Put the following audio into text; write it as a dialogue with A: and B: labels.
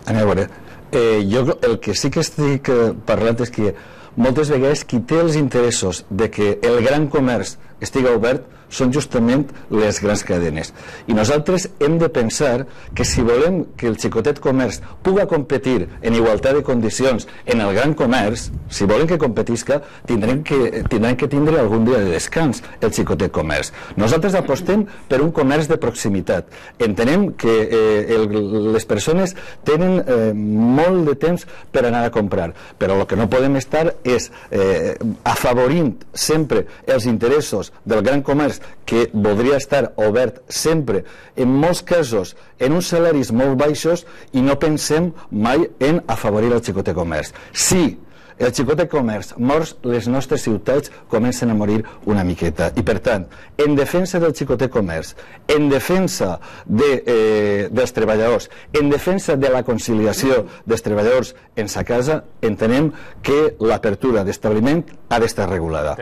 A: A veure, jo el que sí que estic parlant és que moltes vegades qui té els interessos de que el gran comerç estigui obert són justament les grans cadenes. I nosaltres hem de pensar que si volem que el xicotet comerç puga competir en igualtat de condicions en el gran comerç, si volen que competisca, tindran que tindre algun dia de descans el xicotet comerç. Nosaltres apostem per un comerç de proximitat. Entenem que les persones tenen molt de temps per anar a comprar, però el que no podem estar és afavorint sempre els interessos del gran comerç, que voldria estar obert sempre, en molts casos en uns salaris molt baixos, i no pensem mai en afavorir el xicotet comerç. Si el xicotet comerç mor, les nostres ciutats comencen a morir una miqueta. I per tant, en defensa del xicotet comerç, en defensa dels treballadors, en defensa de la conciliació dels treballadors en sa casa, entenem que l'apertura d'establiment ha d'estar regulada.